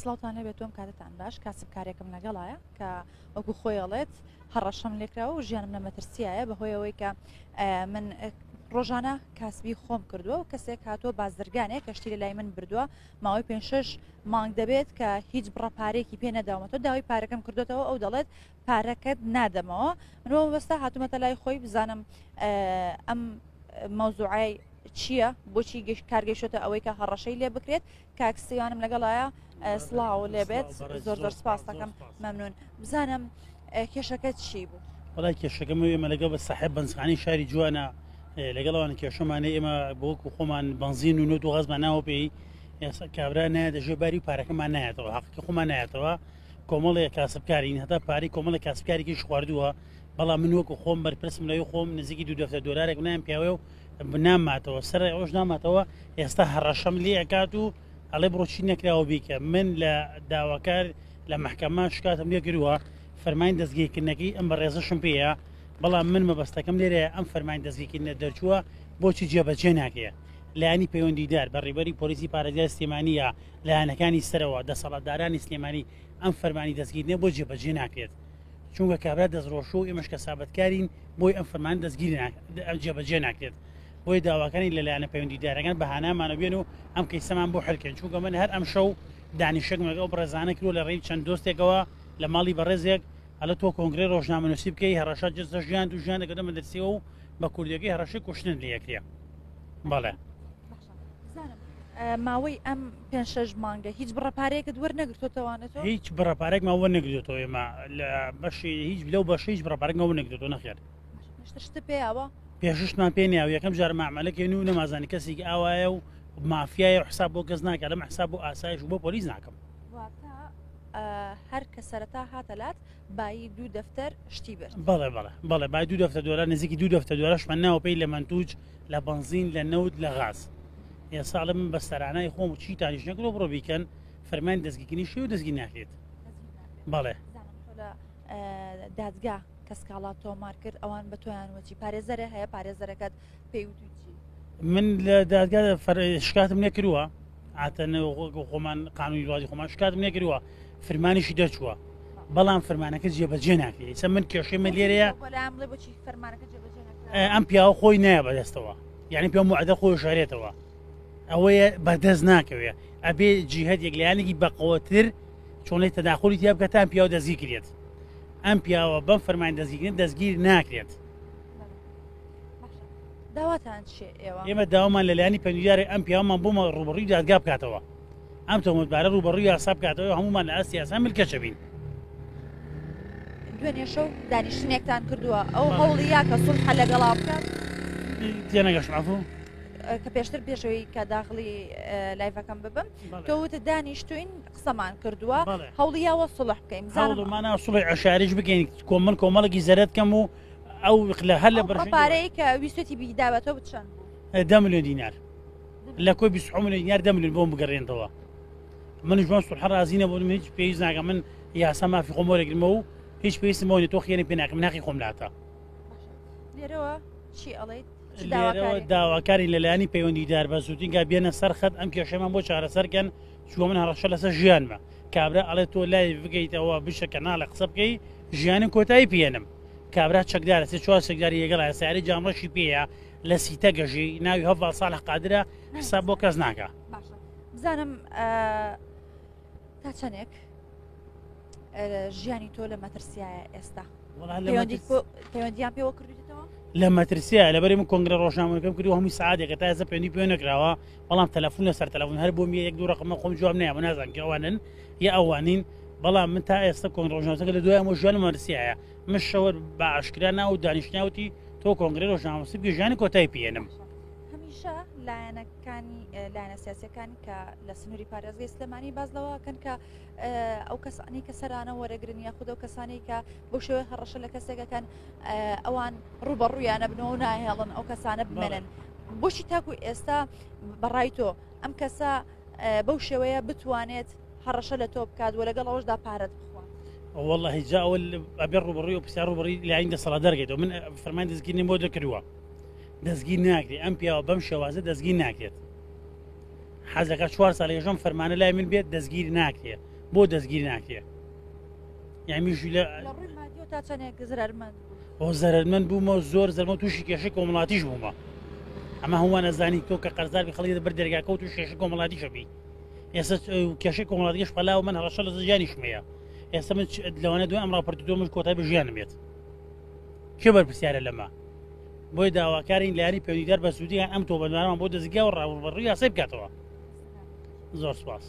سڵاوتان لێبێت تۆم کاتتان باش کاسبکارێکم لەگەڵایە کە وەکو خۆی ئەڵێت هەڕەشەم لێکراوە و ژیانم لە مەترسیایە بەهۆی ئەوەی کە من ڕۆژانە کاسبی خۆم کردووە و کەسێک هاتووە بازرگانێک کەشتی لە لای من بردووە ماوەی پێ شش مانگ دەبێت کە هیچ بڕە پارێکی پێ نەداومەتەوە داوای پارەکەم کردوێتەوە ئەو دەڵێت پارەکەت نادەمەوە من بۆ مەبەستە هاتوومەتە لای خۆی بزانم ئەم مەوزوعای چییە بۆچی گەشت کارگەیشتە ئەوەی کە هەڕەشەی لێ بکرێت کاک سیوانم لەگەڵایە سڵاو لێبێت زۆر زۆر سپاس دەکەم مەمنون بزانم کێشەکە چی بوو؟ وڵای کێشەکەم ئێمە لەگەڵ بە ساحێب بەنزخانی شاری جوانە لەگەڵ ئەوان کێشەمانە ئێمە بۆکو خۆمان بەنزین و نەوت و غازمان ناوە پێی ئێستا کابرا نایە دەژێ باری و پارەکەمان نایەتەوە حەقی خۆمان نایەتەوە کۆمەڵێک کاسبکارین هەتا پارەی کۆمەڵێک کاسبکارێکیش خواردووە بەڵام من وەکو خۆم بەرپرسم لەوی خۆم نزیکی دوو دەفتەر دۆلارێک نایم پیاوێ و ناماتەوە سەر ئەوش ناماتەوە ئێستا هەڕەشەم لێ ئەکات و ئەڵێ بڕۆ چی نەکراوە بیکە من لە داواکار لە محکەمە شکاتم لێ کردووە فەرمانی دەستگیرکردنەکەی ئەم بەڕێزەشم پێیە بەڵام من مەبەستەکەم لێرە ئەم فەرمانی دەستگیرکردنە دەرچووە بۆچی جێبەجێ ناکرێ لایەنی پەیوەندیدار بە ڕێبەری پۆلیسی پارێزگای سلێمانیە لایەنەکانی سەرەوە دەسەڵاتدارانی سلێمانی ئەم فەرمانی دەستگیرنە بۆ جێبەجێ ناکرێت چونکە کابرا دەستڕۆشوو و ئێمەش کەسابەتکارین بۆی ئەم فەرمان دەستگیر جێبەجێ ناکرێت بۆیە داواکانی لە لایەنە پەیوەندیدارەکان بە هانامانە بێن و ئەم کەیسەمان بۆ حلکەن چونکە من هەر ئەم شەو دانیشتێکم لەگەڵ بەڕێزانە کردووە لە ڕێی چەند دۆستێکەوە لە ماڵی بەڕێزێک ئەڵێ تۆ کۆنگرەی ڕۆژنامەنووسی بکەی هەڕەشە جەستە ژیان و ژیان دەکەوتە مەترسیەوە و بە کوردیەکەی هەڕەشەی کوشتنت لێ ئەکرێ بەڵێ. ماوەی ئەم پێ شش مانگە هیچ بڕە پارەیەکت وەرنەگرتوتەوانێت هیچ بڕە پارێکمان وەرنەگرتوەوە ئێمە لە بەشی هیچ لەو بەشە هیچ بڕە پارێکمان وەرنەگرتووە نەخێر شتە پێیاوە پێششتمان پێ نیاو یەکەم جار مامەلەکەین و نەمازانی کەسێکی ئاوایە و مافیایە و حساب بۆ کەس ناکە لەم حساب بۆ ئاسایش و بۆ پۆلیس ناکەم هەر کە سەرەتا هاتە لات بایی دوو دەفتەر شتی برد. بەڵێ بەڵێ بەڵێ بای دوو دەفتەر دۆلار نزیکی دوو دەفتەر دۆلارشمان ناوە پێی لە مەنتوج لە بەنزین لە نەوت لە غاز ئێستا ئەڵێ من بە سەرانای خۆم و چیتانیش نەکرۆ بڕۆ بیکەن فەرمانی دەستگیرکردنی شێ و دەستگیر ناکرێت بەڵێ لە دادگا کە سکاڵا تۆمار کرد ئەوان بە تۆیان وەچی پارێزەرە هەیە پارێزەرەکەت پێی وتوی چی؟ من لە دادگا شکاتم نەکردووە عاتەن خۆمان قانونی وڵاتی خۆمان شکاتم نەکردووە فرمانیشی دەرچووە بەڵام فرمانەکە جێبەجێ ناکرێت ئێستا من کێشەی من لێرەیە ئەم پیاوە خۆی نایە بەدەستەوە یعنی پێ موعدە خۆی شارێتەوە ئەوەیە بەدەست ناکەوێ ئەبێ جیهت یەک لایەنێکی بەقوەتر چۆنی تەداخلی تیا بکە تا ئەم پیاوە دەستگیر کرێت ئەم پیاوە بەم فەرمان دەستگیرکردن دەستگیر ناکرێت داواتان چیە ئێوە؟ ئێمە داوامان لە لایەنی پەیوەندیداری ئەم پیاوەمان بۆ ڕووبەڕووی دادگا بکاتەوە ئەم تۆمەتبارە ڕووبەڕووی یاسا بکاتەوە هەموومان لە ئاستی یاسا ملکەچە بین. دوێنێ شەو دانیشتنێکتان کردووە ئەو هەوڵی یا کە سوڵحە لەگەڵا بکات؟ تێنەگەشتم عەفوو. کە پێشتر پێشەوەی کە داخلی لایڤەکەم ببم تۆ وتت دانیشتوین قسەمان کردووە هەوڵی یاوە سوڵح بکەین هەوڵمانە سوڵی عەشایریش بکەین کۆمەڵ کۆمەڵێکی زەرەد کەم و ئەو لە هەر لە بڕە پارەی کە ویستێتی بیداوەتەوە چەند دە ملیۆن دینار لە کۆی 20 ملیۆن دینار دە ملیۆن بۆم بگەڕێنەوە منیش بەم سوڵحە ڕازی نەبووم هیچ پێویست ناکەم من یاسا مافی خۆم وەرەگرمەوە و هیچ پێویستم بەوە نییە تۆ خیانەت پێ ناکەم من حەقی خۆم لاتە لێرەوە چی ئەڵێیت لێرەوە داواکاری لەلایەنی پەیوەندیدار بە زووترین کات بێنە سەر خەت ئەم کێشەمان بۆ چارەسەرکەن چووە من هەڕەشە لەسەر ژیانمە کابرا ئەڵێ تۆ لای بگەیتەوە بشە کەناڵە قسە بکەی ژیانم کۆتایی پێێنم کابرا چەکدارە سێ چوار چەکداری لەگەڵە سیارەی جامڕەشی پێیە لە سیتە گەژی ناوی هەڤاڵ ساڵح قادرە حساب بۆ کەس ناکا. باشە بزانم تا چەندێک ژیانی تۆ لە مەترسیایە ئێستا پەیوەندیان پێوە کردویتەوە؟ لە مەترسیە لەبەری من کۆنگرە ڕۆژنامەکەم کردو هەمووی سعاتێکە تا ئێستا پەیوەندی پێ نەکراوە بەڵام تەلەفون لەسەر تەلەفون هەر بۆم یەک دوو ڕقمە خۆم جواب نایە نازانم کە ئەوانن یا ئەوانین بەڵام من تا ئێستا کۆنگرە ڕۆژنامەکە لە دوای ئەمە ژیانم مەترسیایە من شەوە بە ئاشکرا ناو دانیشتناوتی تۆ کۆنگرەی ڕۆژنامەنووسی بکەی ژیانی کۆتایی پێێنم. هەمیشە لایەنەکانی لایەنە سیاسەکان کە لە سنووری پارێزگەی سلێمانی باز لەوەکەن کە ئەو کەسانی کە سەرانە وەرەگرن یاخود ئەو کەسانی کە بۆ شێوەی هەڕەشە لە کەسێکەکەن ئەوان ڕوبەڕوویانە بنەوە و ناهێڵن ئەو کەسانە بمێنن بۆچی تاکو ئێستا بەڕای تۆ ئەم کەسە بەو شێوەیە بتوانێت هەڕەشە لە تۆ بکات و لەگەڵ ئەوەشدا پارەت بخوات؟ واللهی جا ئەوە ئەبێ ڕوبەڕووی و پرسیار ڕوبەڕووی لایەنی دەسەڵاتدار کەیتەوە من فەرمانی دەستگیرنیم بۆ دەکردووە دەستگیر ناکرێت ئەم پیاوە بەم شێوازە دەستگیر ناکرێت. حەزەکە چوار ساڵ ێژەم فەرمانە لای من بێت دەستگیر ناکرێ بۆ دەستگیر ناکرێ یامیش لە تا چەندێک زەرمەند بۆ زەرمەند بوومە زۆر زەرمە تووشی کێشەی کۆمەڵاتیش بوومە ئەمە هەمووان ئەزانی تۆ کە قەرزار بی خەڵکی بەر دەرگاکە و تووشی کێشەی کۆمەڵاتیشە بی ئێستا کێشەی کۆمەڵاتیش پەلاوە من هەڕەشە لە ژیانیشم هەیە ئێستا من لەوانە دوای ئەم ڕاپۆرتی تۆ من کۆتای بە ژیانم بێت کێ بەرپرسیارە لەمە بۆی داواکارین لایەنی پەیوەندیدار بە سوودیان ئەم تۆبەندانەمان بۆ دەستگا و ڕاوڕوبەڕووی یاسای بکاتەوە زۆر سپاس.